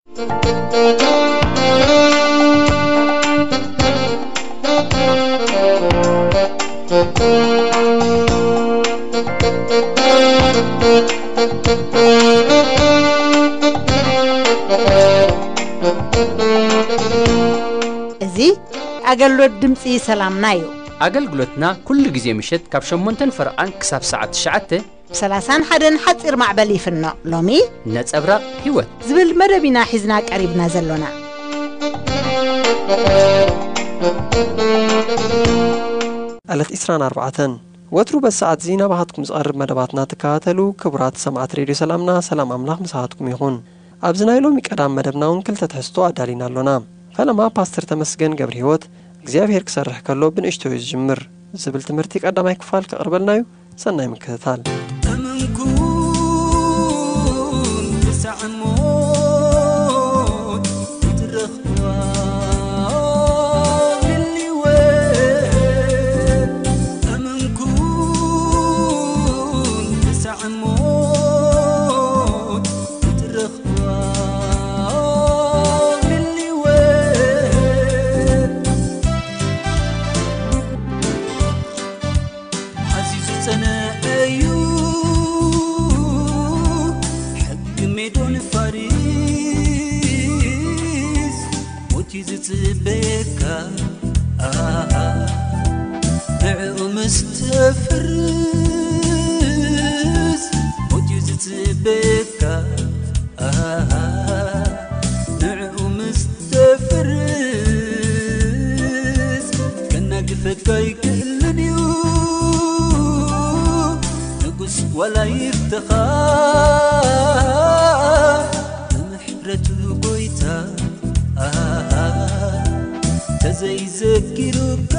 እዚ ኣገልግሎት ድምፂ ሰላምና እዩ። ኣገልግሎትና ኩሉ ግዜ ምሸት ካብ ሸሞንተን ፈረቓን ክሳብ ሰዓት ትሽዓተ ብ ሰላሳን ሓደን ሓፂር ማዕበል ይፍኖ። ሎሚ ነጸብራቕ ህይወት ዝብል መደብ ኢና ሒዝና ቀሪብና ዘሎና። ዕለት ዕስራን ኣርባዕተን ወትሩ በዚ ሰዓት እዚ ናባኻትኩም ዝቐርብ መደባትና ትከታተሉ ክቡራት ሰማዕት ሬድዮ ሰላምና፣ ሰላም ኣምላኽ ምሳኻትኩም ይኹን። ኣብዚ ናይ ሎሚ ቀዳም መደብና እውን ክልተ ትሕዝቶ ኣዳሊና ኣሎና። ፈለማ ፓስተር ተመስገን ገብረ ህይወት እግዚኣብሔር ክሰርሕ ከሎ ብንእሽቶ እዩ ዝጅምር ዝብል ትምህርቲ ቀዳማይ ክፋል ከቕርበልና እዩ። ሰናይ ምክትታል። እምንኩን ክሳዕ ሞት ክትረኽብዋ ልልወ። እምንኩን ክሳዕ ሞት ክትረኽብዋ ልልወ። ኣዝዩ ዝጸንዐ እዩ ሕጊ ሜዶን ፋሪስ፣ ሞት እዩ ዝጽበየካ። ኣሃ፣ ንዕኡ ምስ ተፍርስ፣ ሞት እዩ ዝጽበየካ። ኣሃ፣ ንዕኡ ምስ ተፍርስ፣ ከናግፈካ ኣይክእልን እዩ። ንጉስ ዋላ ይፍተኻ፣ ብምሕረቱ ጎይታ ተዘይዘኪሩካ፣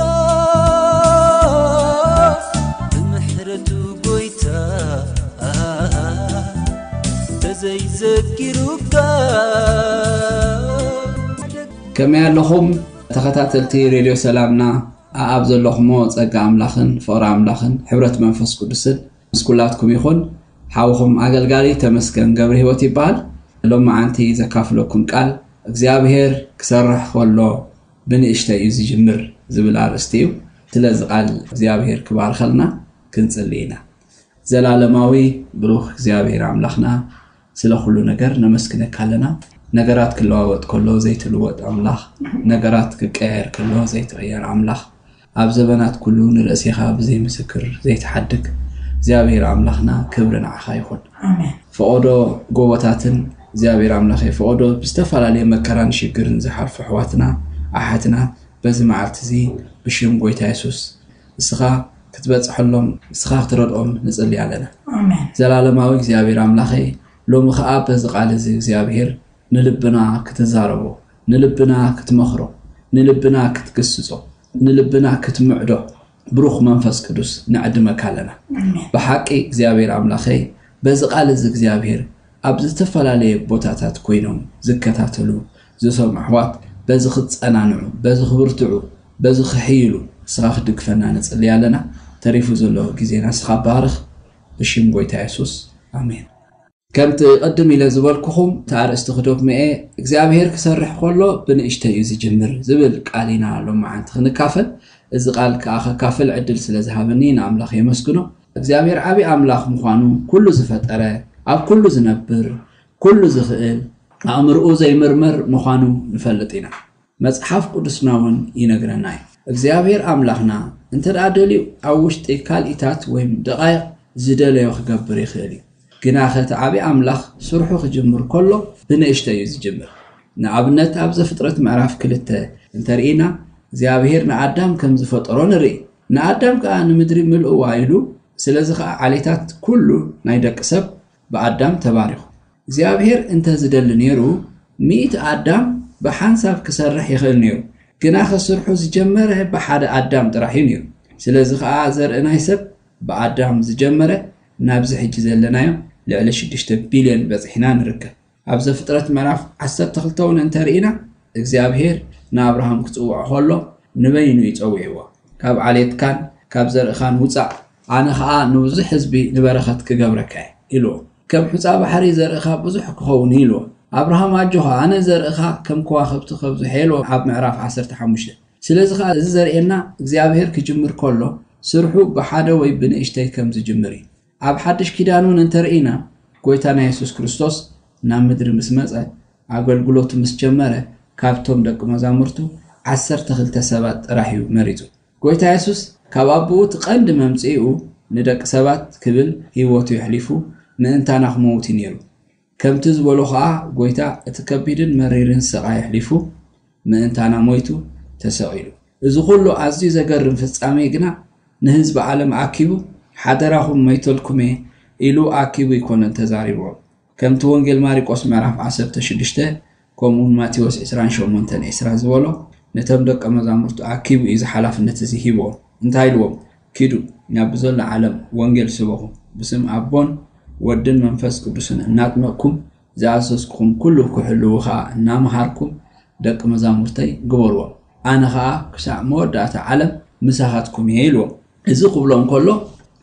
ብምሕረቱ ጎይታ ተዘይዘኪሩካ። ከመይ ኣለኹም ተኸታተልቲ ሬድዮ ሰላምና? ኣኣብ ዘለኹሞ ጸጋ ኣምላኽን ፍቕሪ ኣምላኽን ሕብረት መንፈስ ቅዱስን ምስ ኩላትኩም ይኹን። ሓውኹም ኣገልጋሊ ተመስገን ገብረ ህይወት ይበሃል። ሎማዓንቲ ዘካፍለኩም ቃል እግዚኣብሔር ክሰርሕ ከሎ ብንእሽተይ እዩ ዝጅምር ዝብል ኣርእስቲ እዩ። ስለዚ ቃል እግዚኣብሔር ክባርኸልና ክንጽሊ ኢና። ዘላለማዊ ብሩኽ እግዚኣብሔር ኣምላኽና፣ ስለ ኩሉ ነገር ነመስግነካ ኣለና። ነገራት ክለዋወጥ ከሎ ዘይትልወጥ ኣምላኽ፣ ነገራት ክቀየር ከሎ ዘይትቕየር ኣምላኽ፣ ኣብ ዘበናት ኩሉ ንርእሴኻ ብዘይ ምስክር ዘይትሓድግ እግዚኣብሔር ኣምላኽና፣ ክብሪ ንዓኻ ይኹን። ኣሜን። ፈቐዶ ጎቦታትን እግዚኣብሔር ኣምላኸይ፣ ፈቐዶ ብዝተፈላለየ መከራን ሽግርን ዝሓልፉ ኣሕዋትና ኣሓትና በዚ መዓልቲ እዚ ብሽም ጎይታ የሱስ ንስኻ ክትበጽሐሎም፣ ንስኻ ክትረድኦም ንጽሊ ኣለና። ኣሜን። ዘላለማዊ እግዚኣብሔር ኣምላኸይ፣ ሎሚ ኸኣ በዚ ቃል እዚ እግዚኣብሔር ንልብና ክትዛረቦ፣ ንልብና ክትመኽሮ፣ ንልብና ክትግስጾ፣ ንልብና ክትምዕዶ ብሩኽ መንፈስ ቅዱስ ንዕድመካ ኣለና። ኣሜን። ብሓቂ እግዚኣብሔር ኣምላኸይ፣ በዚ ቃል እዚ እግዚኣብሔር ኣብ ዝተፈላለየ ቦታታት ኮይኖም ዝከታተሉ፣ ዝሰምዑ ኣሕዋት በዚ ክጸናንዑ፣ በዚ ክብርትዑ፣ በዚ ክሕይሉ ንስኻ ክትድግፈና ንጽሊ ኣለና። ተሪፉ ዘሎ ግዜና ንስኻ ባርኽ፣ ብሽም ጎይታ የሱስ፣ ኣሜን። ከምቲ ቅድም ኢለ ዝበልኩኹም፣ እቲ ኣርእስቲ ክደግሞ እየ፣ እግዚኣብሔር ክሰርሕ ከሎ ብንእሽተይ እዩ ዝጅምር ዝብል ቃል ኢና ሎማዓንቲ ክንካፈል። እዚ ቃል ከኣ ከካፍል ዕድል ስለ ዝሃበኒ ንኣምላኽ የመስግኖ። እግዚኣብሔር ዓቢ ኣምላኽ ምዃኑ፣ ኩሉ ዝፈጠረ፣ ኣብ ኩሉ ዝነብር፣ ኩሉ ዝኽእል፣ ኣእምርኡ ዘይምርመር ምዃኑ ንፈልጥ ኢና። መጽሓፍ ቅዱስና እውን ይነግረና እዩ። እግዚኣብሔር ኣምላኽና እንተ ደኣ ደልዩ፣ ኣብ ውሽጢ ካልኢታት ወይም ደቓይቕ ዝደለዮ ክገብር ይኽእል እዩ። ግናኸ እቲ ዓቢ ኣምላኽ ስርሑ ክጅምር ከሎ ብንእሽተይ እዩ ዝጅምር። ንኣብነት ኣብ ዘፍጥረት ምዕራፍ ክልተ እንተርኢና እግዚኣብሔር ንኣዳም ከም ዝፈጠሮ ንርኢ። ንኣዳም ከኣ ንምድሪ ምልእዋ ኢሉ፣ ስለዚ ከኣ ዓሌታት ኩሉ ናይ ደቂ ሰብ ብኣዳም ተባሪኹ። እግዚኣብሔር እንተ ዝደሊ ነይሩ ሚእቲ ኣዳም ብሓንሳብ ክሰርሕ ይኽእል ነይሩ። ግናኸ ስርሑ ዝጀመረ ብሓደ ኣዳም ጥራሕ እዩ ነይሩ። ስለዚ ከኣ ዘርኢ ናይ ሰብ ብኣዳም ዝጀመረ ናብዚ ሕጂ ዘለናዮ ልዕሊ ሽዱሽተ ቢልዮን በጺሕና ንርከብ። ኣብ ዘፍጥረት ምዕራፍ ዓሰርተ ክልተ እውን እንተርኢና እግዚኣብሔር ንኣብርሃም ክጽውዖ ከሎ ንበይኑ እዩ ጸዊዕዎ። ካብ ዓሌትካን ካብ ዘርእኻን ውጻእ፣ ኣነ ኸኣ ንብዙሕ ህዝቢ ንበረኸት ክገብረካ እየ ኢልዎ። ከም ሑጻ ባሕሪ ዘርእኻ ብዙሕ ክኸውን እዩ ኢልዎ። ኣብርሃም ኣጆኻ፣ ኣነ ዘርእኻ ከም ከዋኽብቲ ከብዝሖ ኢልዎ ኣብ ምዕራፍ ዓሰርተ ሓሙሽተ። ስለዚ ኸኣ እዚ ዘርእየና እግዚኣብሔር ክጅምር ከሎ ስርሑ ብሓደ ወይ ብንእሽተይ ከም ዝጅምር እዩ። ኣብ ሓድሽ ኪዳን እውን እንተርኢና ጎይታና የሱስ ክርስቶስ ናብ ምድሪ ምስ መጸ ኣገልግሎቱ ምስ ጀመረ ካብቶም ደቂ መዛሙርቱ ዓሰርተ ክልተ ሰባት ጥራሕ እዩ መሪጹ። ጎይታ የሱስ ካብ ኣቦኡ እቲ ቀንዲ መምጽኢኡ ንደቂ ሰባት ክብል ህይወቱ የሕሊፉ ምእንታና ክመውት እዩ ነይሩ። ከምቲ ዝበሎ ኸኣ ጎይታ እቲ ከቢድን መሪርን ስቓይ ኣሕሊፉ ምእንታና ሞይቱ ተሰቒሉ። እዚ ኹሉ ኣዝዩ ዘገርም ፍጻሜ ግና ንህዝቢ ዓለም ኣኪቡ ሓደራኹም መይተልኩም እየ ኢሉ ኣኪቡ ኣይኮነን ተዛሪብዎም። ከምቲ ወንጌል ማሪቆስ ምዕራፍ ዓሰርተ ሽዱሽተ ከምኡውን ማቴዎስ ዕስራን ሸሞንተን ዕስራ ዝበሎ ነቶም ደቀ መዛሙርቱ ኣኪቡ እዩ እዚ ሓላፍነት እዚ ሂብዎም። እንታይ ኢልዎም? ኪዱ ናብ ብዘሎ ዓለም ወንጌል ስበኹ፣ ብስም ኣቦን ወድን መንፈስ ቅዱስን እናጥመቕኩም ዝኣዘዝኩኹም ኩሉ ክሕልዉ ኸኣ እናመሃርኩም ደቂ መዛሙርተይ ግበርዎም። ኣነ ኸኣ ክሳዕ መወዳእታ ዓለም ምሳኻትኩም እየ ኢልዎም። እዚ ክብሎ እንከሎ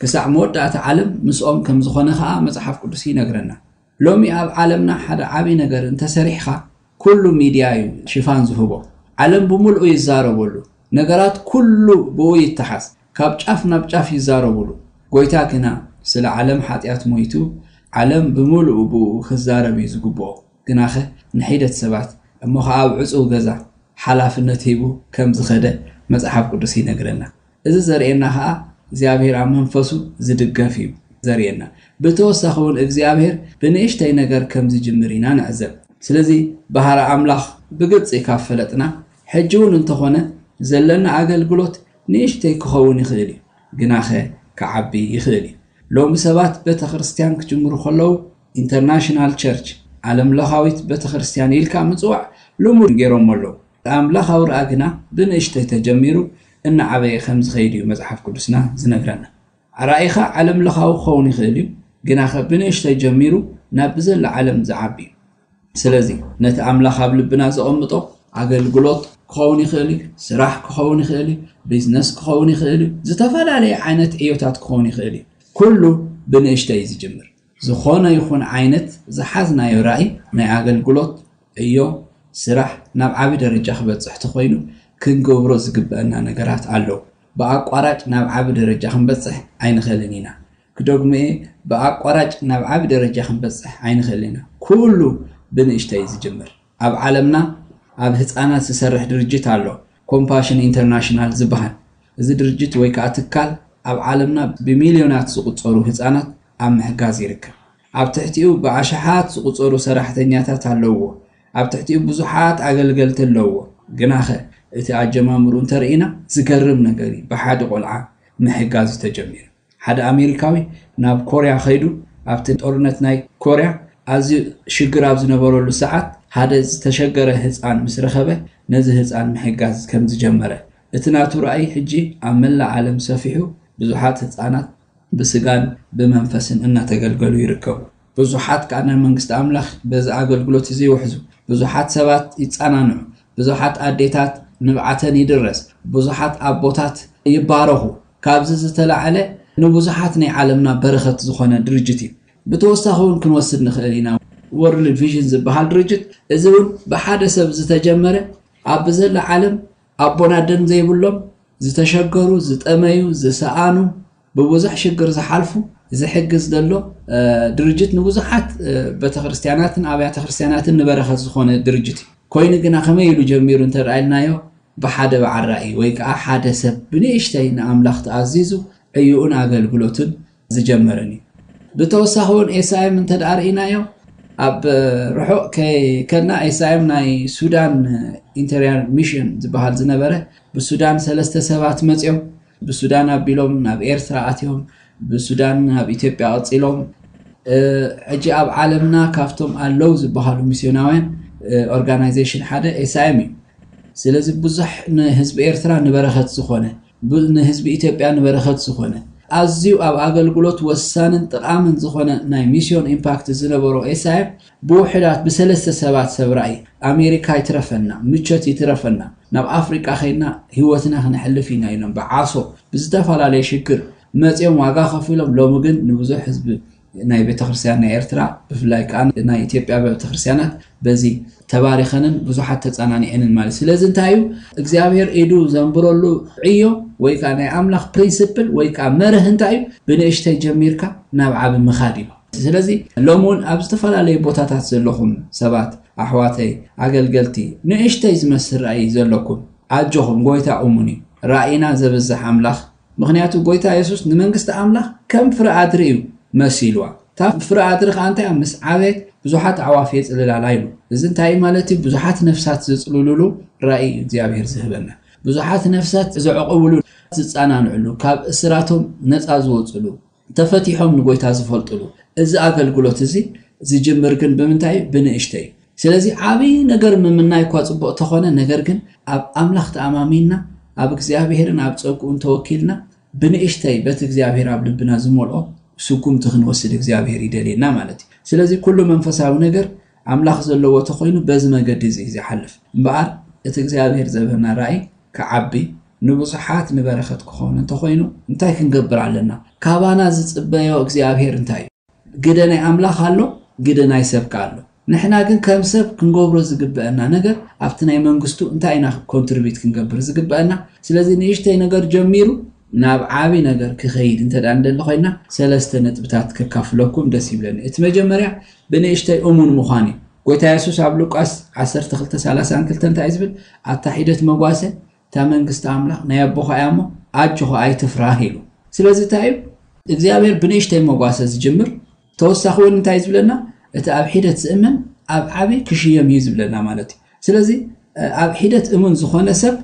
ክሳዕ መወዳእታ ዓለም ምስኦም ከም ዝኾነ ኸኣ መጽሓፍ ቅዱስ ይነግረና። ሎሚ ኣብ ዓለምና ሓደ ዓቢ ነገር እንተሰሪሕኻ ኩሉ ሚድያ እዩ ሽፋን ዝህቦ። ዓለም ብምልኡ ይዛረበሉ። ነገራት ኩሉ ብኡ ይተሓዝ። ካብ ጫፍ ናብ ጫፍ ይዛረቡሉ። ጎይታ ግና ስለ ዓለም ሓጢኣት ሞይቱ ዓለም ብምልኡ ብኡ ክዛረብ እዩ ዝግብኦ። ግናኸ ንሒደት ሰባት እሞ ኸዓ ኣብ ዕጹው ገዛ ሓላፍነት ሂቡ ከም ዝኸደ መጽሓፍ ቅዱስ ይነግረና። እዚ ዘርእየና ኸዓ እግዚኣብሔር ኣብ መንፈሱ ዝድገፍ እዩ ዘርእየና። ብተወሳኺ እውን እግዚኣብሔር ብንእሽተይ ነገር ከም ዝጅምር ኢና ንዕዘብ። ስለዚ ባህሪ ኣምላኽ ብግልጺ ካብ ፈለጥና ሕጂ እውን እንተኾነ ዘለና ኣገልግሎት ንእሽተይ ክኸውን ይኽእል እዩ፣ ግናኸ ክዓቢ ይኽእል እዩ። ሎሚ ሰባት ቤተ ክርስቲያን ክጅምሩ ከለዉ ኢንተርናሽናል ቸርች፣ ዓለም ለኻዊት ቤተ ክርስቲያን ኢልካ ምጽዋዕ ልሙድ ገይሮሞ ኣለዉ። ኣምላኻዊ ረኣ ግና ብንእሽተይ ተጀሚሩ እናዓበየ ከም ዝኸይድ እዩ መጽሓፍ ቅዱስና ዝነግረና። ራእይኻ ዓለም ለኻዊ ክኸውን ይኽእል እዩ፣ ግናኸ ብንእሽተይ ጀሚሩ ናብ ብዘላ ዓለም ዝዓቢ እዩ። ስለዚ ነቲ ኣምላኽ ኣብ ልብና ዘቐምጦ ኣገልግሎት ክኸውን ይኽእል እዩ፣ ስራሕ ክኸውን ይኽእል እዩ፣ ቢዝነስ ክኸውን ይኽእል እዩ፣ ዝተፈላለየ ዓይነት ዕዮታት ክኸውን ይኽእል እዩ። ኩሉ ብንእሽተይ እዩ ዝጅምር። ዝኾነ ይኹን ዓይነት ዝሓዝናዮ ራእይ ናይ ኣገልግሎት ዕዮ፣ ስራሕ ናብ ዓቢ ደረጃ ክበጽሕ ተኾይኑ ክንገብሮ ዝግበአና ነገራት ኣለዉ። ብኣቋራጭ ናብ ዓቢ ደረጃ ክንበጽሕ ኣይንኽእልን ኢና። ክደግሞ እየ፣ ብኣቋራጭ ናብ ዓቢ ደረጃ ክንበጽሕ ኣይንኽእልን ኢና። ኩሉ ብንእሽተይ እዩ ዝጅምር። ኣብ ዓለምና ኣብ ህጻናት ዝሰርሕ ድርጅት ኣሎ፣ ኮምፓሽን ኢንተርናሽናል ዝበሃል። እዚ ድርጅት ወይ ከኣ ትካል ኣብ ዓለምና ብሚልዮናት ዝቑጸሩ ህጻናት ኣብ ምሕጋዝ ይርከብ። ኣብ ትሕቲኡ ብኣሽሓት ዝቑጸሩ ሰራሕተኛታት ኣለውዎ። ኣብ ትሕቲኡ ብዙሓት ኣገልገልቲ ኣለውዎ። ግናኸ እቲ ኣጀማምሩ እንተርኢና ዝገርም ነገር እዩ። ብሓደ ቆልዓ ምሕጋዝ እዩ ተጀሚሩ። ሓደ ኣሜሪካዊ ናብ ኮርያ ከይዱ ኣብቲ ጦርነት ናይ ኮርያ ኣዝዩ ሽግር ኣብ ዝነበረሉ ሰዓት ሓደ ዝተሸገረ ህፃን ምስ ረኸበ ነዚ ህፃን ምሕጋዝ ከም ዝጀመረ እቲ ናቱ ራእይ ሕጂ ኣብ መላእ ዓለም ሰፊሑ ብዙሓት ህፃናት ብስጋን ብመንፈስን እናተገልገሉ ይርከቡ። ብዙሓት ከዓ ናይ መንግስቲ ኣምላኽ በዚ ኣገልግሎት እዚ ይውሕዙ። ብዙሓት ሰባት ይጸናንዑ። ብዙሓት ኣዴታት ንብዓተን ይድረስ። ብዙሓት ኣቦታት ይባረኹ። ካብዚ ዝተላዕለ ንብዙሓት ናይ ዓለምና በረኸት ዝኾነ ድርጅት እዩ። ብተወሳኺ እውን ክንወስድ ንኽእል ኢና። ወርልድ ቪዥን ዝበሃል ድርጅት እዚ እውን ብሓደ ሰብ ዝተጀመረ ኣብ ብዘላ ዓለም ኣቦን ኣደን ዘይብሎም ዝተሸገሩ፣ ዝጠመዩ፣ ዝሰኣኑ፣ ብብዙሕ ሽግር ዝሓልፉ ዝሕግዝ ዘሎ ድርጅት ንብዙሓት ቤተክርስትያናትን ኣብያተ ክርስትያናትን ንበረኸት ዝኾነ ድርጅት እዩ። ኮይኑ ግና ከመይ ኢሉ ጀሚሩ እንተደኣ ኢልናዮ ብሓደ በዓል ራእይ ወይ ከዓ ሓደ ሰብ ብንእሽተይ ንኣምላኽ ተኣዚዙ ዕዩኡን ኣገልግሎትን ዝጀመረን እዩ። ብተወሳኺ እውን ኤስኣይም እንተደኣ ርኢናዮ ኣብ ርሑቕ ከይከድና ኤስኣይም ናይ ሱዳን ኢንተርያል ሚሽን ዝበሃል ዝነበረ ብሱዳን ሰለስተ ሰባት መፅዮም ብሱዳን ኣቢሎም ናብ ኤርትራ ኣትዮም ብሱዳን ናብ ኢትዮጵያ ቀፂሎም ሕጂ ኣብ ዓለምና ካብቶም ኣለዉ ዝበሃሉ ሚስዮናውያን ኦርጋናይዜሽን ሓደ ኤስኣይም እዩ። ስለዚ ብዙሕ ንህዝቢ ኤርትራ ንበረኸት ዝኾነ ንህዝቢ ኢትዮጵያ ንበረኸት ዝኾነ ኣዝዩ ኣብ ኣገልግሎት ወሳንን ጥቓምን ዝኾነ ናይ ሚስዮን ኢምፓክት ዝነበሮ ኤስኣይም ብውሕዳት ብሰለስተ ሰባት ሰብ ራእይ ኣሜሪካ ይትረፈና ምቸት ይትረፈና ናብ ኣፍሪቃ ኸይድና ህይወትና ክነሕልፍ ኢና ኢሎም ብዓሶ ብዝተፈላለየ ሽግር መፅኦም ዋጋ ከፊሎም ሎሚ ግን ንብዙሕ ህዝቢ ናይ ቤተክርስትያን ናይ ኤርትራ፣ ብፍላይ ከዓ ናይ ኢትዮጵያ ቤተክርስትያናት በዚ ተባሪኸንን ብዙሓት ተጸናኒዐንን ማለት። ስለዚ እንታይ እዩ እግዚኣብሔር ኢዱ ዘንብረሉ ዕዮ ወይ ከዓ ናይ ኣምላኽ ፕሪንስፕል ወይ ከዓ መርህ እንታይ እዩ? ብንእሽተይ ጀሚርካ ናብ ዓቢ ምኻድ እዩ። ስለዚ ሎም እውን ኣብ ዝተፈላለዩ ቦታታት ዘለኹም ሰባት፣ ኣሕዋተይ ኣገልገልቲ፣ ንእሽተይ ዝመስል ራእይ ዘለኩም ኣጆኹም፣ ጎይታ እሙን እዩ። ራእይና ዘብዝሕ ኣምላኽ። ምኽንያቱ ጎይታ የሱስ ንመንግስቲ ኣምላኽ ከም ፍረ ኣድሪ እዩ መሲልዋ። እታ ፍረ ኣድሪ ከዓ እንታይ ምስ ዓበየት ብዙሓት ኣዕዋፍ የጽልላላ ኢሉ። እዚ እንታይ ማለት እዩ? ብዙሓት ነፍሳት ዝጽልሉሉ ራእይ እዩ እግዚኣብሔር ዝህበና። ብዙሓት ነፍሳት ዝዕቕብሉ፣ ዝጸናንዕሉ፣ ካብ እስራቶም ነጻ ዝወጽሉ፣ ተፈቲሖም ንጎይታ ዝፈልጥሉ። እዚ ኣገልግሎት እዚ ዝጅምር ግን ብምንታይ? ብንእሽተይ። ስለዚ ዓቢ ነገር ምምናይ እኳ ጽቡቕ ተኾነ፣ ነገር ግን ኣብ ኣምላኽ ተኣማሚንና፣ ኣብ እግዚኣብሔርን ኣብ ጸግኡን ተወኪልና፣ ብንእሽተይ በቲ እግዚኣብሔር ኣብ ልብና ዝመልኦ ስጉምቲ ክንወስድ እግዚኣብሔር ይደልየና ማለት እዩ። ስለዚ ኩሉ መንፈሳዊ ነገር ኣምላኽ ዘለዎ ተኾይኑ በዚ መገዲ እዚ እዩ ዝሓልፍ። እምበኣር እቲ እግዚኣብሔር ዘበና ራእይ ክዓቢ፣ ንብዙሓት ንበረኸት ክኸውን እንተኾይኑ እንታይ ክንገብር ኣለና? ካባና ዝጽበዮ እግዚኣብሔር እንታይ እዩ? ግደ ናይ ኣምላኽ ኣሎ፣ ግደ ናይ ሰብ ከኣ ኣሎ። ንሕና ግን ከም ሰብ ክንገብሮ ዝግበአና ነገር ኣብቲ ናይ መንግስቱ እንታይ ኢና ኮንትሪቢዩት ክንገብር ዝግበአና? ስለዚ ንእሽተይ ነገር ጀሚሩ ናብ ዓቢ ነገር ክኸይድ እንተ ደኣ እንደሊ ኮይና ሰለስተ ነጥብታት ከካፍለኩም ደስ ይብለኒ። እቲ መጀመርያ ብንእሽተይ እሙን ምዃን እዩ። ጎይታ የሱስ ኣብ ሉቃስ ዓሰርተ ክልተ ሰላሳ ክልተ እንታይ እዩ ዝብል? ኣታ ሒደት መጓሰ እታ መንግስቲ ኣምላኽ ናይ ኣቦኻ እያ እሞ ኣጆኻ ኣይትፍራህ ኢሉ። ስለዚ እንታይ እዩ እግዚኣብሔር ብንእሽተይ መጓሰ ዝጅምር። ተወሳኺ እውን እንታይ እዩ ዝብለና? እቲ ኣብ ሒደት ዝእመን ኣብ ዓቢ ክሽየም እዩ ዝብለና ማለት እዩ። ስለዚ ኣብ ሒደት እሙን ዝኾነ ሰብ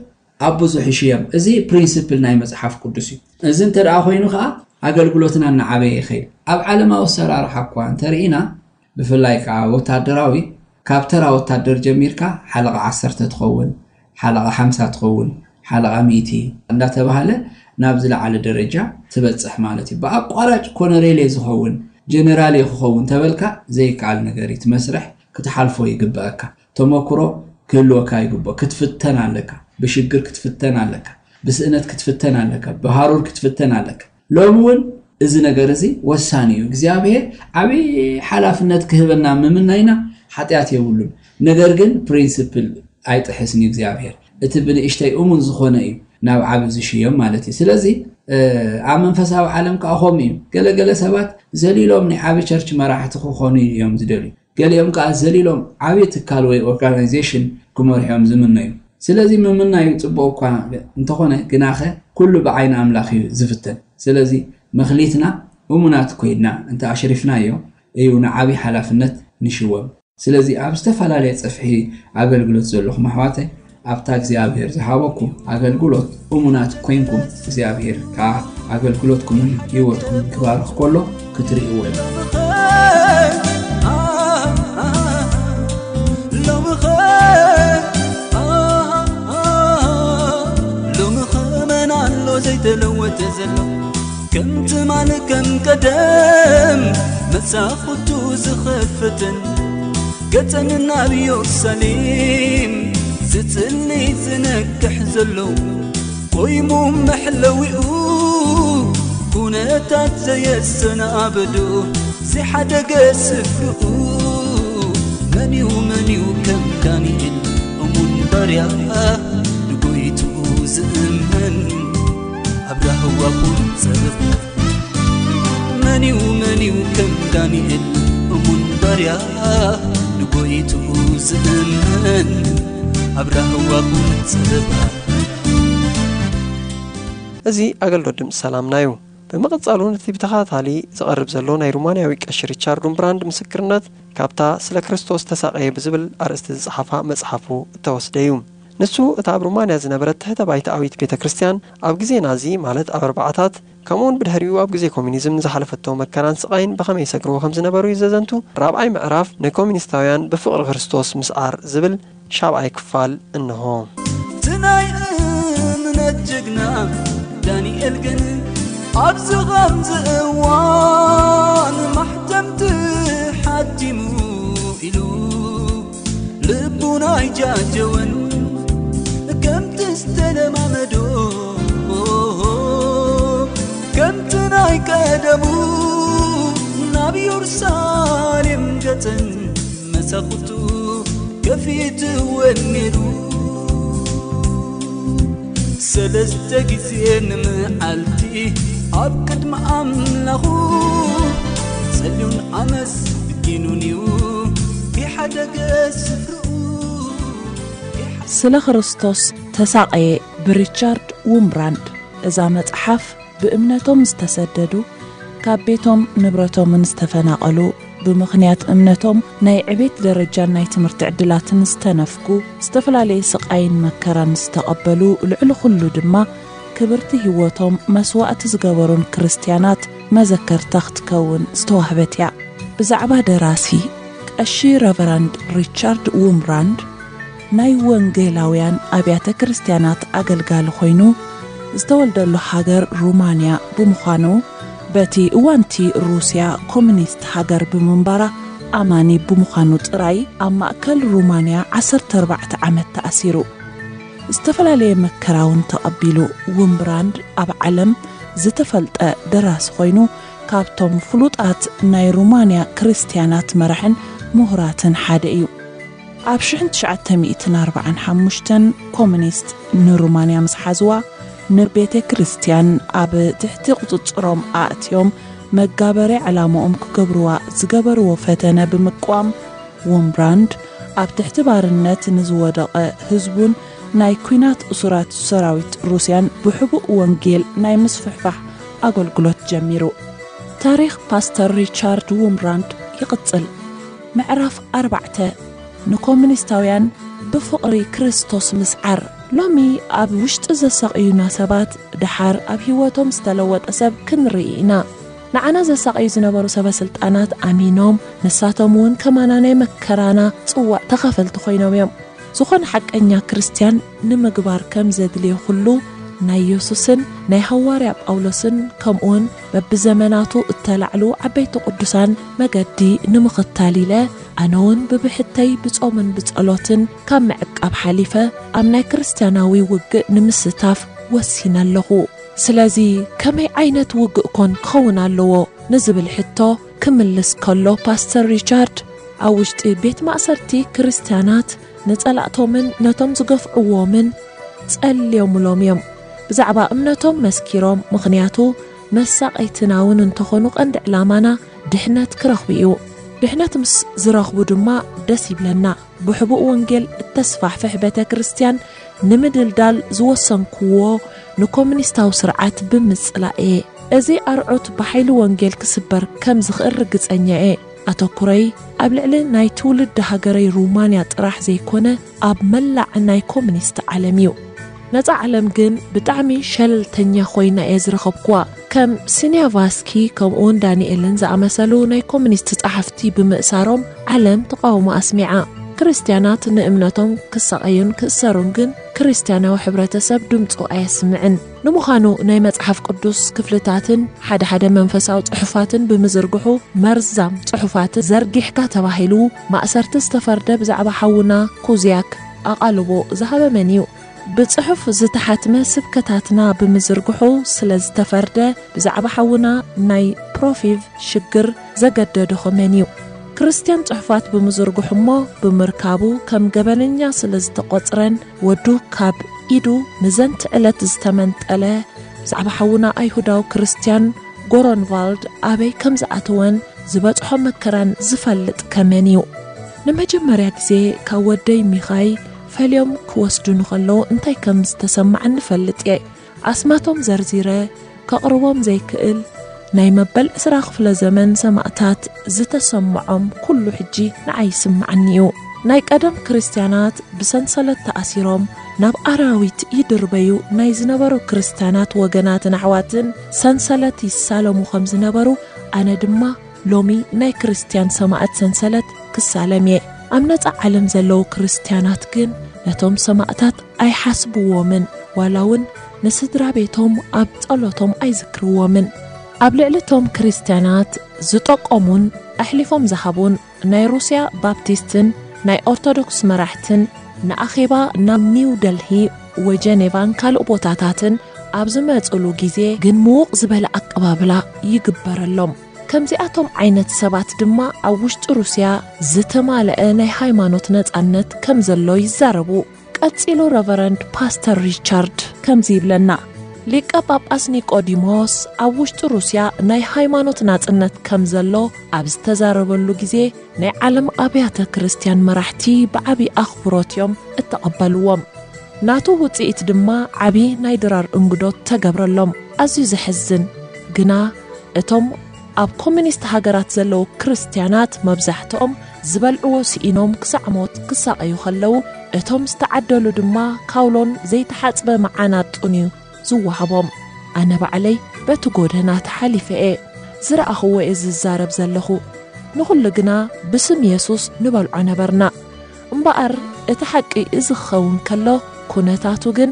ኣብ ብዙሕ ይሽየም። እዚ ፕሪንስፕል ናይ መጽሓፍ ቅዱስ እዩ። እዚ እንተ ደኣ ኮይኑ ከዓ ኣገልግሎትና እናዓበየ ይኸይድ። ኣብ ዓለማዊ ኣሰራርሓ እኳ እንተርኢና፣ ብፍላይ ከዓ ወታደራዊ፣ ካብ ተራ ወታደር ጀሚርካ ሓለቓ ዓሰርተ ትኸውን፣ ሓለቓ ሓምሳ ትኸውን፣ ሓለቓ ሚእቲ እንዳተባሃለ ናብ ዝለዓለ ደረጃ ትበጽሕ ማለት እዩ። ብኣቋራጭ ኮነሬል እየ ዝኸውን፣ ጀነራል እየ ክኸውን ተበልካ ዘይከኣል ነገር እዩ። እቲ መስርሕ ክትሓልፎ ይግበኣካ። ተመክሮ ክህልወካ ይግበኦ። ክትፍተን ኣለካ። ብሽግር ክትፍተን ኣለካ። ብስእነት ክትፍተን ኣለካ። ብሃሩር ክትፍተን ኣለካ። ሎሚ እውን እዚ ነገር እዚ ወሳኒ እዩ። እግዚኣብሔር ዓብዪ ሓላፍነት ክህበና ምምናይና ሓጢኣት የብሉን። ነገር ግን ፕሪንስፕል ኣይጥሕስን እዩ እግዚኣብሔር። እቲ ብንእሽተይ እሙን ዝኾነ እዩ ናብ ዓቢ ዝሽየም ማለት እዩ። ስለዚ ኣብ መንፈሳዊ ዓለም ከዓ ከምኡ እዩ። ገለገለ ሰባት ዘሊሎም ናይ ዓቢ ቸርች መራሕቲ ክኾኑ እዮም ዝደልዩ። ገሊኦም ከዓ ዘሊሎም ዓቢ ትካል ወይ ኦርጋናይዜሽን ክመርሑ እዮም ዝምነዩ። ስለዚ ምምናዩ ጽቡቕ እኳ እንተኾነ፣ ግናኸ ኩሉ ብዓይኒ ኣምላኽ እዩ ዝፍተን። ስለዚ መኽሊትና እሙናት ኮይንና እንተ ኣሽሪፍናዮ እዩ ንዓቢ ሓላፍነት ንሽወም። ስለዚ ኣብ ዝተፈላለየ ጽፍሒ ኣገልግሎት ዘለኹም ኣሕዋተይ፣ ኣብታ እግዚኣብሔር ዝሃበኩም ኣገልግሎት እሙናት ኮይንኩም፣ እግዚኣብሔር ከኣ ኣገልግሎትኩምን ህይወትኩምን ክባርኽ ከሎ ክትርእይዎ ኢኹም። ሎምኸ መን ኣሎ ዘይተለወጠ ዘሎ? ከም ትማል ከም ቀደም መሳኹቱ ዝኸፍትን ገጸን ናብ ኢየሩሳሌም ዝጽሊ ዝነቅሕ ዘሎ፣ ቆይሙ መሕለዊኡ ኩነታት ዘየሰናብዶ፣ ዝሓደገ ስፍርኡ መን እዩ መን እዩ ከም ዳንኤል እሙን ባርያ ንጎይትኡ ዝእመን ኣብ ራህዋ ቁንጽብ? መን እዩ መን እዩ ከም ዳንኤል እሙን ባርያ ንጎይትኡ ዝእመን ኣብ ራህዋ ቁንጽብ? እዚ ኣገልግሎት ድምፂ ሰላምና እዩ። ብምቕጻል እውን እቲ ብተኸታታሊ ዝቐርብ ዘሎ ናይ ሩማንያዊ ቀሺ ሪቻርድ ኡምብራንድ ምስክርነት ካብታ ስለ ክርስቶስ ተሳቐየ ብዝብል ኣርእስቲ ዝጸሓፋ መጽሓፉ እተወስደ እዩ። ንሱ እታ ኣብ ሩማንያ ዝነበረት ትሕተ ባይታኣዊት ቤተ ክርስቲያን ኣብ ግዜና እዚ ማለት ኣብ ኣርባዓታት ከምኡውን ብድሕሪኡ ኣብ ግዜ ኮሚኒዝም ንዝሓለፈቶ መከራን ስቓይን ብኸመይ ይሰግርዎ ከም ዝነበሩ እዩ ዘዘንቱ ራብዓይ ምዕራፍ ንኮሚኒስታውያን ብፍቕሪ ክርስቶስ ምስዓር ዝብል ሻብዓይ ክፋል እንሆ። እቲ ናይ እምነት ጅግና ዳንኤል ግን ኣብዚ ኸምዚ እዋን ማሕተምቲ ሓቲሙ ኢሉ ልቡ ናይ ጃጀወን ከምቲ ዝተለማመዶ ከምቲ ናይ ቀደሙ ኢየሩሳሌም ገጸን መሳኹቱ ከፊትወን ነይሩ። ሰለስተ ግዜ ንመዓልቲ ኣብ ቅድሚ ኣምላኹ ጸልዩን ኣመስጊኑን እዩ። ይሓደገ ስፍርኡ ስለ ክርስቶስ ተሳቐየ ብሪቻርድ ውምብራንድ። እዛ መጽሓፍ ብእምነቶም ዝተሰደዱ፣ ካብ ቤቶም ንብረቶምን ዝተፈናቐሉ፣ ብምኽንያት እምነቶም ናይ ዕቤት ደረጃን ናይ ትምህርቲ ዕድላትን ዝተነፍጉ፣ ዝተፈላለየ ስቓይን መከራን ዝተቐበሉ፣ ልዕሊ ኩሉ ድማ ክብርቲ ህይወቶም መስዋእቲ ዝገበሩን ክርስትያናት መዘከርታ ክትከውን ዝተዋህበት እያ። ብዛዕባ ደራሲ ቀሺ ረቨራንድ ሪቻርድ ውምብራንድ ናይ ወንጌላውያን ኣብያተ ክርስትያናት ኣገልጋሊ ኮይኑ፣ ዝተወልደሉ ሃገር ሩማንያ ብምዃኑ፣ በቲ እዋንቲ ሩስያ ኮሙኒስት ሃገር ብምንባራ ኣማኒ ብምዃኑ ጥራይ ኣብ ማእከል ሩማንያ ዓሰርተ ኣርባዕተ ዓመት ተኣሲሩ። ዝተፈላለየ መከራ እውን ተቐቢሉ። ውምብራንድ ኣብ ዓለም ዝተፈልጠ ደራሲ ኮይኑ፣ ካብቶም ፍሉጣት ናይ ሩማንያ ክርስትያናት መራሕን ምሁራትን ሓደ እዩ። ኣብ ሽሕን ትሽዓተ ሚእትን ኣርባዓን ሓሙሽተን ኮሙኒስት ንሩማንያ ምስ ሓዝዋ፣ ንቤተ ክርስትያን ኣብ ትሕቲ ቁጽጽሮም ኣእትዮም መጋበርያ ዕላማኦም ክገብርዋ ዝገበርዎ ፈተነ ብምቅዋም፣ ውምብራንድ ኣብ ትሕቲ ባርነት ንዝወደቐ ህዝቡን ናይ ኲናት እሱራት ሰራዊት ሩስያን ብሕቡእ ወንጌል ናይ ምስፍሕፋሕ ኣገልግሎት ጀሚሩ። ታሪኽ ፓስተር ሪቻርድ ውምብራንድ ይቕጽል። ምዕራፍ ኣርባዕተ፣ ንኮሙኒስታውያን ብፍቕሪ ክርስቶስ ምስዓር። ሎሚ ኣብ ውሽጢ ዘሳቕዩና ሰባት፣ ደሓር ኣብ ህይወቶም ዝተለወጠ ሰብ ክንርኢ ኢና። ንዓና ዘሳቕዩ ዝነበሩ ሰበ ስልጣናት ኣሚኖም፣ ንሳቶም እውን ከማና ናይ መከራና ጽዋእ ተኻፈልቲ ኮይኖም እዮም። ዝኾነ ሓቀኛ ክርስትያን ንምግባር ከም ዘድልዮ ኩሉ፣ ናይ የሱስን ናይ ሃዋርያ ጳውሎስን ከምኡውን በብዘመናቱ እተላዕሉ ዓበይቲ ቅዱሳን መገዲ ንምኽታል ኢለ፣ ኣነ እውን ብብሕተይ ብጾምን ብጸሎትን ካብ ምዕቃብ ሓሊፈ ኣብ ናይ ክርስትያናዊ ውግእ ንምስታፍ ወሲነ ኣለኹ። ስለዚ ከመይ ዓይነት ውግእ ኮን ክኸውን ኣለዎ ንዝብል ሕቶ ክምልስ ከሎ ፓስተር ሪቻርድ ኣብ ውሽጢ ቤት ማእሰርቲ ክርስትያናት ንጸላእቶምን ነቶም ዝገፍዕዎምን ጸልዮምሎም እዮም። ብዛዕባ እምነቶም መስኪሮም፣ ምኽንያቱ መሳቐይትና እውን እንተኾኑ ቀንዲ ዕላማና ድሕነት ክረኽቡ እዩ። ድሕነት ምስ ዝረኽቡ ድማ ደስ ይብለና። ብሕቡእ ወንጌል እተስፋሕፍሕ ቤተ ክርስትያን ንምድልዳል ዝወሰንክዎ ንኮሙኒስታዊ ስርዓት ብምጽላእ እየ። እዚ ኣርዑት ብሓይሊ ወንጌል ክስበር ከም ዝኽእል ርግጸኛ እየ። ኣተኩረይ ኣብ ልዕሊ ናይ ትውልዲ ሃገረይ ሩማንያ ጥራሕ ዘይኮነ ኣብ መላዕ ናይ ኮሙኒስት ዓለም እዩ። ነጻ ዓለም ግን ብጣዕሚ ሸለልተኛ ኮይና እየ ዝረኸብኩዋ። ከም ሲኒያቫስኪ ከምኡውን ዳንኤልን ዝኣመሰሉ ናይ ኮሙኒስት ጸሓፍቲ ብምእሳሮም ዓለም ተቓውሞ ኣስሚዓ። ክርስትያናት ንእምነቶም ክሳቐዩን ክእሰሩን ግን ክርስትያናዊ ሕብረተሰብ ድምፁ ኣየስምዕን። ንምዃኑ ናይ መጽሓፍ ቅዱስ ክፍልታትን ሓደ ሓደ መንፈሳዊ ጽሑፋትን ብምዝርግሑ መርዛም ጽሑፋት ዘርጊሕካ ተባሂሉ ማእሰርቲ ዝተፈርደ ብዛዕባ ሓውና ኩዝያክ ኣቓልቦ ዝሃበ መን እዩ? ብጽሑፍ ዝተሓትመ ስብከታትና ብምዝርግሑ ስለ ዝተፈርደ ብዛዕባ ሓውና ናይ ፕሮፊቭ ሽግር ዘገደዶ ኸመን እዩ? ክርስትያን ጽሑፋት ብምዝርግሑ እሞ ብምርካቡ ከም ገበነኛ ስለ ዝተቖጽረን ወዱ ካብ ኢዱ ንዘንቲ ዕለት ዝተመንጠለ ብዛዕባ ሓውና ኣይሁዳዊ ክርስትያን ጎሮንቫልድ ኣበይ ከም ዝኣተወን ዝበጽሖ መከራን ዝፈልጥ ከመን እዩ? ንመጀመርያ ግዜ ካብ ወደይ ሚኻይ ፈልዮም ክወስዱኒ ከለዉ እንታይ ከም ዝተሰማዓኒ እፈልጥ እየ። ኣስማቶም ዘርዚረ ከቕርቦም ዘይክእል ናይ መበል ዕስራ ክፍለ ዘመን ሰማእታት ዝተሰምዖም ኩሉ ሕጂ ንዓይ ይስምዓኒ እዩ። ናይ ቀደም ክርስትያናት ብሰንሰለት ተኣሲሮም ናብ ኣራዊት ይድርበዩ ናይ ዝነበሩ ክርስትያናት ወገናትን ኣሕዋትን ሰንሰለት ይሳለሙ ከም ዝነበሩ ኣነ ድማ ሎሚ ናይ ክርስትያን ሰማእት ሰንሰለት ክሳለም እየ። ኣብ ነጻ ዓለም ዘለዉ ክርስትያናት ግን ነቶም ሰማእታት ኣይሓስብዎምን ዋላ እውን ንስድራ ቤቶም ኣብ ጸሎቶም ኣይዝክርዎምን። ኣብ ልዕሊ እቶም ክርስትያናት ዝጠቆሙን ኣሕሊፎም ዝሃቡን ናይ ሩስያ ባፕቲስትን ናይ ኦርቶዶክስ መራሕትን ንኣኼባ ናብ ኒው ደልሂ ወጀኔቫን ካልእ ቦታታትን ኣብ ዝመጽሉ ግዜ ግን ምዉቕ ዝበለ ኣቀባብላ ይግበረሎም። ከምዚኣቶም ዓይነት ሰባት ድማ ኣብ ውሽጢ ሩስያ ዝተማልአ ናይ ሃይማኖት ነጻነት ከም ዘሎ ይዛረቡ። ቀጺሉ ረቨረንድ ፓስተር ሪቻርድ ከምዚ ይብለና፣ ሊቀ ጳጳስ ኒቆዲሞስ ኣብ ውሽጢ ሩስያ ናይ ሃይማኖት ናጽነት ከም ዘሎ ኣብ ዝተዛረበሉ ግዜ፣ ናይ ዓለም ኣብያተ ክርስቲያን መራሕቲ ብዓቢ ኣኽብሮት እዮም እተቐበልዎም። ናቱ ውጽኢት ድማ ዓቢ ናይ ድራር እንግዶት ተገብረሎም። ኣዝዩ ዘሕዝን ግና፣ እቶም ኣብ ኮሚኒስት ሃገራት ዘለዉ ክርስትያናት መብዛሕትኦም ዝበልዕዎ ስኢኖም ክሳዕ ሞት ክሳቐዩ ከለዉ፣ እቶም ዝተዓደሉ ድማ ካውሎን ዘይተሓጽበ መዓናጡን እዩ ዝወሃቦም። ኣነ ባዕለይ በቲ ጎደና ተሓሊፈ እየ ዝረኣኽዎ እየ ዝዛረብ ዘለኹ። ንኹሉ ግና ብስም የሱስ ንበልዖ ነበርና። እምበኣር እቲ ሓቂ እዚ ክኸውን ከሎ፣ ኩነታቱ ግን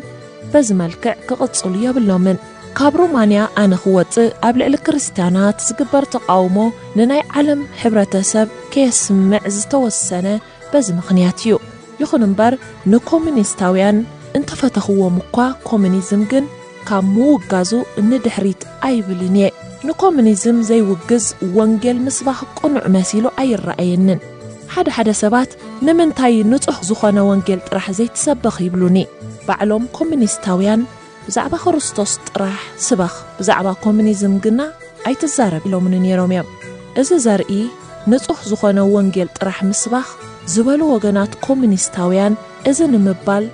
በዚ መልክዕ ክቕጽሉ የብሎምን። ካብ ሩማንያ ኣነ ክወጽእ ኣብ ልዕሊ ክርስትያናት ዝግበር ተቓውሞ ንናይ ዓለም ሕብረተሰብ ከየስምዕ ዝተወሰነ በዚ ምኽንያት እዩ። ይኹን እምበር ንኮሙኒስታውያን እንተፈተኽዎም እኳ ኮሙኒዝም ግን ካብ ምውጋዙ ንድሕሪት ኣይብልን እየ። ንኮሙኒዝም ዘይውግዝ ወንጌል ምስባኽ ቅኑዕ መሲሉ ኣይረኣየንን። ሓደ ሓደ ሰባት ንምንታይ ንጹህ ዝኾነ ወንጌል ጥራሕ ዘይትሰብኽ ይብሉኒ። ባዕሎም ኮሙኒስታውያን ብዛዕባ ክርስቶስ ጥራሕ ስበኽ፣ ብዛዕባ ኮሙኒዝም ግና ኣይትዛረብ ኢሎምኒ ነይሮም እዮም። እዚ ዘርኢ ንጹህ ዝኾነ ወንጌል ጥራሕ ምስባኽ ዝበሉ ወገናት ኮሙኒስታውያን እዚ ንምባል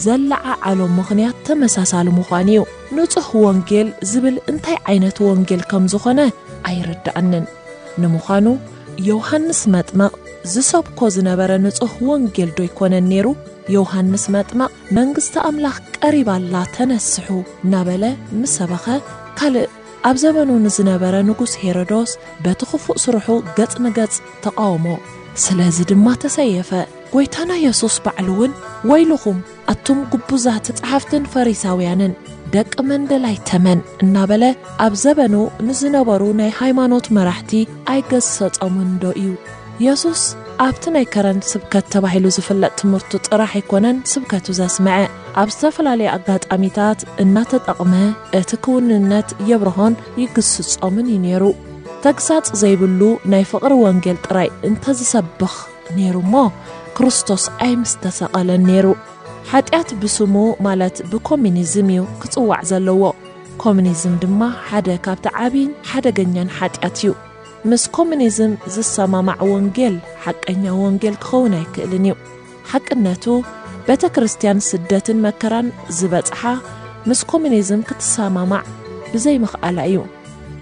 ዘለዓዓሎም ምኽንያት ተመሳሳሊ ምዃኑ እዩ። ንጹህ ወንጌል ዝብል እንታይ ዓይነት ወንጌል ከም ዝኾነ ኣይርድኣንን። ንምዃኑ ዮሃንስ መጥምቕ ዝሰብኮ ዝነበረ ንጹህ ወንጌል ዶ ኣይኮነን ነይሩ? ዮሃንስ መጥምቕ መንግስቲ ኣምላኽ ቀሪባ ኣላ ተነስሑ እናበለ ምስ ሰበኸ ካልእ ኣብ ዘመኑ ንዝነበረ ንጉስ ሄሮዶስ በቲ ክፉእ ስርሑ ገጽ ንገጽ ተቓወሞ። ስለዚ ድማ ተሰየፈ። ጎይታና የሱስ ባዕሉ እውን ወይልኹም ኣቱም ግቡዛት ጸሓፍትን ፈሪሳውያንን ደቂ መንደላይ ተመን እናበለ ኣብ ዘበኑ ንዝነበሩ ናይ ሃይማኖት መራሕቲ ኣይገሰጾምን ዶ እዩ? የሱስ ኣብቲ ናይ ከረን ስብከት ተባሂሉ ዝፍለጥ ትምህርቱ ጥራሕ ኣይኮነን ስብከቱ ዘስምዐ። ኣብ ዝተፈላለየ ኣጋጣሚታት እናተጠቕመ እቲ ክውንነት የብርሆን ይግስጾምን እዩ ነይሩ። ተግሳጽ ዘይብሉ ናይ ፍቕሪ ወንጌል ጥራይ እንተዝሰብኽ ነይሩ እሞ ክርስቶስ ኣይምስተሰቐለን ነይሩ። ሓጢኣት ብስሙ ማለት ብኮሚኒዝም እዩ ክጽዋዕ ዘለዎ። ኮሚኒዝም ድማ ሓደ ካብቲ ዓቢን ሓደገኛን ሓጢኣት እዩ። ምስ ኮሚኒዝም ዝሰማማዕ ወንጌል ሓቀኛ ወንጌል ክኸውን ኣይክእልን እዩ። ሓቅነቱ፣ ቤተ ክርስቲያን ስደትን መከራን ዝበጽሓ ምስ ኮሚኒዝም ክትሰማማዕ ብዘይምኽኣላ እዩ።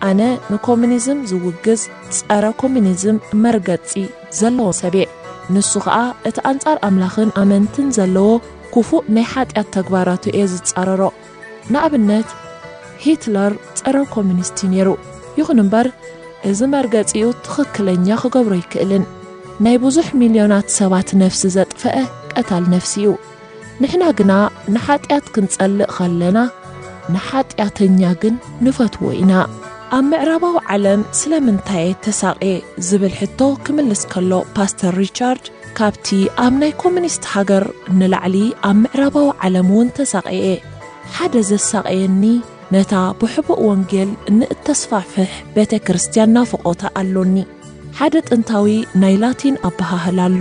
ኣነ ንኮሚኒዝም ዝውግዝ ጸረ ኮሚኒዝም መርገጺ ዘለዎ ሰብ እየ። ንሱ ኸኣ እቲ ኣንጻር ኣምላኽን ኣመንትን ዘለዎ ክፉእ ናይ ሓጢኣት ተግባራቱ እየ ዝጻረሮ። ንኣብነት፣ ሂትለር ጸረ ኮሚኒስት እዩ ነይሩ። ይኹን እምበር፣ እዚ መርገጺኡ ትኽክለኛ ክገብሮ ኣይክእልን። ናይ ብዙሕ ሚልዮናት ሰባት ነፍሲ ዘጥፈአ ቀታል ነፍሲ እዩ። ንሕና ግና ንሓጢኣት ክንጸልእ ኸለና፣ ንሓጢኣተኛ ግን ንፈትዎ ኢና። ኣብ ምዕራባዊ ዓለም ስለምንታይ እየ ተሳቕየ ዝብል ሕቶ ክምልስ ከሎ ፓስተር ሪቻርድ፣ ካብቲ ኣብ ናይ ኮሚኒስት ሃገር ንላዕሊ ኣብ ምዕራባዊ ዓለም እውን ተሳቕየ። ሓደ ዘሳቐየኒ ነታ ብሕቡእ ወንጌል ንእተስፋሕፍሕ ቤተ ክርስቲያን ናፍቖታ ኣሎኒ። ሓደ ጥንታዊ ናይ ላቲን ኣበሃህላ ኣሎ።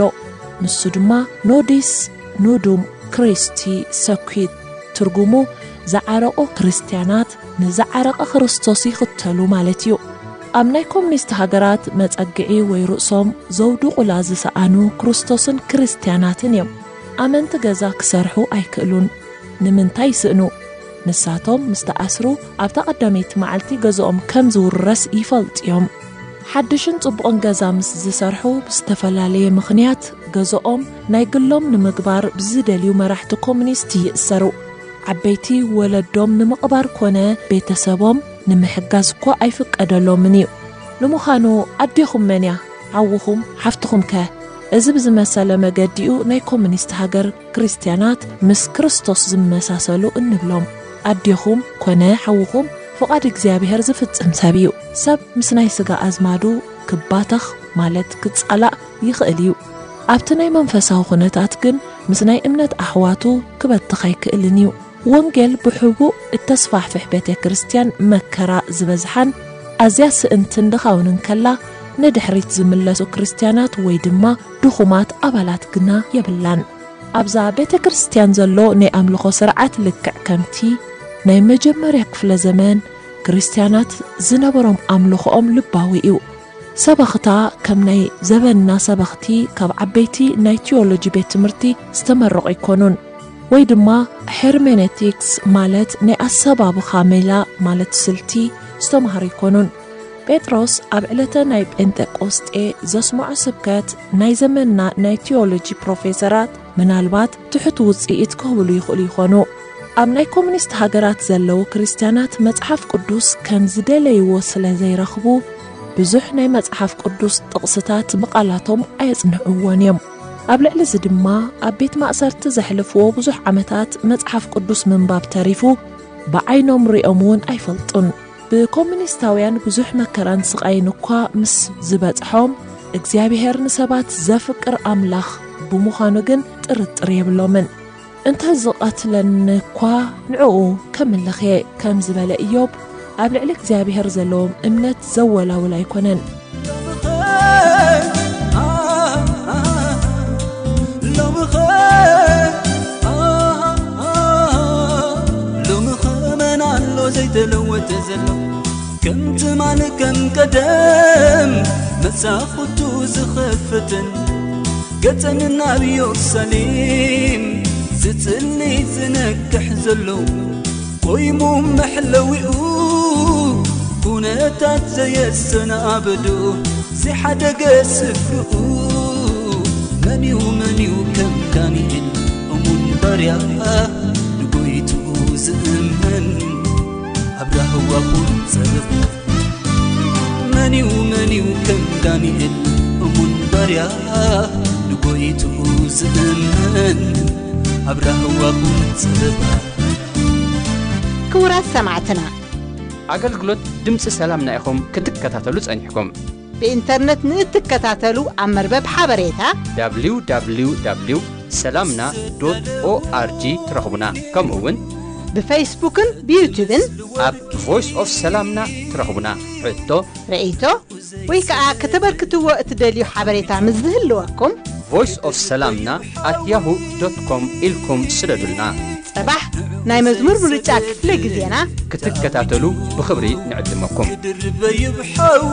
ንሱ ድማ ኖዲስ ኑዱም ክሪስቲ ሰኩት፣ ትርጉሙ ዝዓረቑ ክርስትያናት ንዝዓረቐ ክርስቶስ ይኽተሉ ማለት እዩ። ኣብ ናይ ኮሚኒስት ሃገራት መጸግዒ ወይ ርእሶም ዘውድቑላ ዝሰኣኑ ክርስቶስን ክርስትያናትን እዮም። ኣመንቲ ገዛ ክሰርሑ ኣይክእሉን። ንምንታይ ይስእኑ? ንሳቶም ምስ ተኣስሩ ኣብታ ቀዳመይቲ መዓልቲ ገዝኦም ከም ዝውረስ ይፈልጡ እዮም። ሓድሽን ጽቡቕን ገዛ ምስ ዝሰርሑ ብዝተፈላለየ ምኽንያት ገዝኦም ናይ ግሎም ንምግባር ብዝደልዩ መራሕቲ ኮሚኒስት ይእሰሩ። ዓበይቲ ወለዶም ንምቕባር ኮነ ቤተሰቦም ንምሕጋዝ እኳ ኣይፍቀደሎምን እዩ። ንምዃኑ ኣዴኹም መን እያ? ሓውኹም፣ ሓፍትኹም ከ? እዚ ብዝመሰለ መገዲኡ ናይ ኮሚኒስት ሃገር ክርስትያናት ምስ ክርስቶስ ዝመሳሰሉ እንብሎም። ኣዴኹም ኮነ ሓውኹም ፍቓድ እግዚኣብሔር ዝፍጽም ሰብ እዩ። ሰብ ምስ ናይ ስጋ ኣዝማዱ ክባተኽ ማለት ክጻላእ ይኽእል እዩ። ኣብቲ ናይ መንፈሳዊ ኩነታት ግን ምስ ናይ እምነት ኣሕዋቱ ክበትኽ ኣይክእልን እዩ። ወንጌል ብሕቡእ እተስፋሕፍሕ ቤተ ክርስቲያን መከራ ዝበዝሓን ኣዝያ ስእንትን ድኻውንን ከላ፣ ንድሕሪት ዝምለሱ ክርስትያናት ወይ ድማ ድኹማት ኣባላት ግና የብላን። ኣብዛ ቤተ ክርስቲያን ዘሎ ናይ ኣምልኾ ስርዓት ልክዕ ከምቲ ናይ መጀመርያ ክፍለ ዘመን ክርስትያናት ዝነበሮም ኣምልኾኦም ልባዊ እዩ። ሰበኽታ ከም ናይ ዘበንና ሰበኽቲ ካብ ዓበይቲ ናይ ቲዮሎጂ ቤት ትምህርቲ ዝተመረቑ ኣይኮኑን፣ ወይ ድማ ሄርሜኔቲክስ ማለት ናይ ኣሰባብኻ ሜላ ማለት ስልቲ ዝተማሃሩ ኣይኮኑን። ጴጥሮስ ኣብ ዕለተ ናይ ጴንጠቆስጤ ዘስምዖ ስብከት ናይ ዘመንና ናይ ቲዮሎጂ ፕሮፌሰራት ምናልባት ትሑት ውጽኢት ክህብሉ ይኽእሉ ይኾኑ። ኣብ ናይ ኮሙኒስት ሃገራት ዘለዉ ክርስትያናት መጽሓፍ ቅዱስ ከም ዝደለይዎ ስለ ዘይረኽቡ፣ ብዙሕ ናይ መጽሓፍ ቅዱስ ጥቕስታት ብቓላቶም ኣየጽንዕዎን እዮም። ኣብ ልዕሊ እዚ ድማ ኣብ ቤት ማእሰርቲ ዘሕልፍዎ ብዙሕ ዓመታት መጽሓፍ ቅዱስ ምንባብ ተሪፉ፣ ብዓይኖም ሪኦም እውን ኣይፈልጡን። ብኮሙኒስታውያን ብዙሕ መከራን ስቓይን እኳ ምስ ዝበጽሖም፣ እግዚኣብሔር ንሰባት ዘፍቅር ኣምላኽ ብምዃኑ ግን ጥርጥር የብሎምን። "እንተ ዝቐትለኒ እኳ ንዕኡ ከምልኽ እየ" ከም ዝበለ ኢዮብ፣ ኣብ ልዕሊ እግዚኣብሔር ዘለዎም እምነት ዘወላውል ኣይኮነን። ሎምኸ መን ኣሎ ዘይተለወጠ ዘሎ፣ ከም ትማል ከም ቀደም መሳኹቱ ዝኸፍትን፣ ገጸን ናብ ኢየሩሳሌም ዝጽሊ ዝነቅሕ ዘሎ፣ ቆይሙ መሕለዊኡ ኩነታት ዘየሰናብዱ፣ ዝሓደገ ስፍርኡ። መን እዩ፣ መን እዩ ከም ዳንኤል እሙን ባርያ፣ ንጎይትኡ ዝእመን ኣብ ራህዋ ኹን ጸበብ። መን እዩ፣ መን እዩ ከም ዳንኤል እሙን ባርያ፣ ንጎይትኡ ዝእመን ኣብ ራህዋ ኹን ጸበብ። ክቡራት ሰማዕትና፣ ኣገልግሎት ድምፂ ሰላምና ኢኹም ክትከታተሉ ጸኒሕኩም። ብኢንተርነት ንእትከታተሉ ኣብ መርበብ ሓበሬታ www ሰላምና ኦርጂ ትረኽቡና። ከምኡ እውን ብፌስቡክን ብዩቱብን ኣብ ቮይስ ኦፍ ሰላምና ትረኽቡና። ሕቶ፣ ርእይቶ ወይ ከዓ ከተበርክትዎ እትደልዩ ሓበሬታ ምስ ዝህልወኩም ቮይስ ኦፍ ሰላምና ኣት ያሁ ዶት ኮም ኢልኩም ስደዱልና። ጸባሕ ናይ መዝሙር ምርጫ ክፍለ ግዜና ክትከታተሉ ብኽብሪ ንዕድመኩም። ክድርበ ይብሓዊ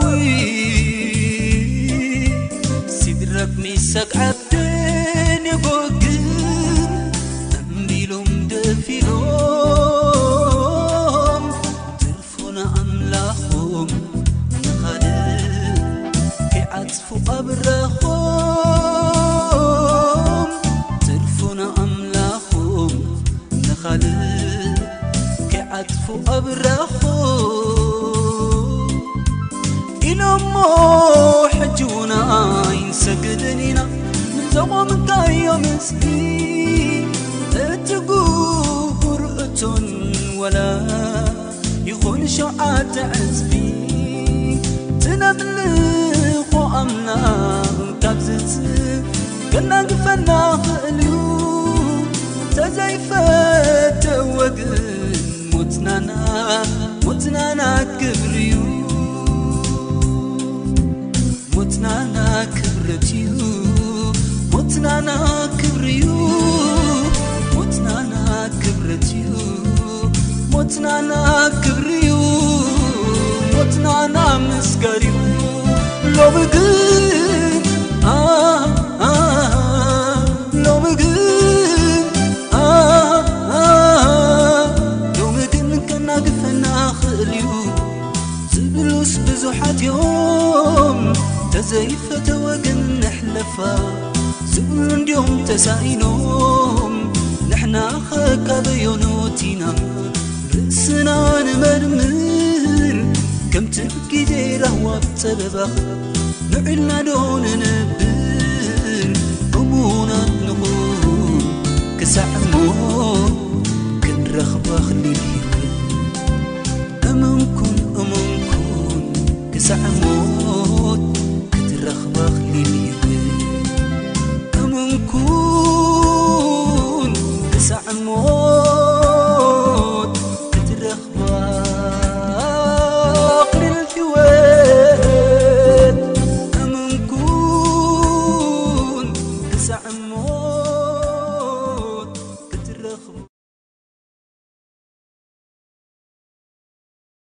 ሲድረቅ ሚሳቅ ዓብደን የጎግን እምቢሎም ደፊኖም ትርፉና ኣምላኾም ንኻልእ ከይዓጽፉ ኣብራኾም ትርፉና ኣምላኾም ንኻልእ ከይዓጽፉ ኣብራኾም ኢሎሞ ሕጂ እውን ኣይንሰግድን ኢና ንጾም እንታይ እዮም እስኪ እቲ ግቡር እቶን ወላ ይኹን ሸውዓተ ዕጽፊ ትነምልኾ ኣምላኽ ካብ ዝጽ ከናግፈና ኽእል እዩ ተዘይፈተወ ግን ሞትናና ሞትናና ክብሪ እዩ ሞትናና ክብረት እዩ ሞትናና ክብሪ እዩ ሞትናና ክብረት እዩ ሞትናና ክብሪ እዩ ሞትናና ምስጋር እዩ ሎሚ ግን ኣ ኣ ሎሚ ግን ኣ ኣ ሎሚ ግን ከናግፈና ኽእል እዩ ዝብሉስ ብዙሓት እዮም ተዘይፈተወ ግን ንሕለፋ ዝብሉ እንድዮም ተሳኢኖም ንሕና ኸካበዮኖት ኢና ርእስና ንመርምር ከምቲ ግዜ ራህዋ ብጸበባኽ ንዕልና ዶ ንነብር እሙናት ንኹን ክሳዕ ሞት ክንረኽባ ክሊል ህይወት እመንኩን እመንኩን ክሳዕ ሞት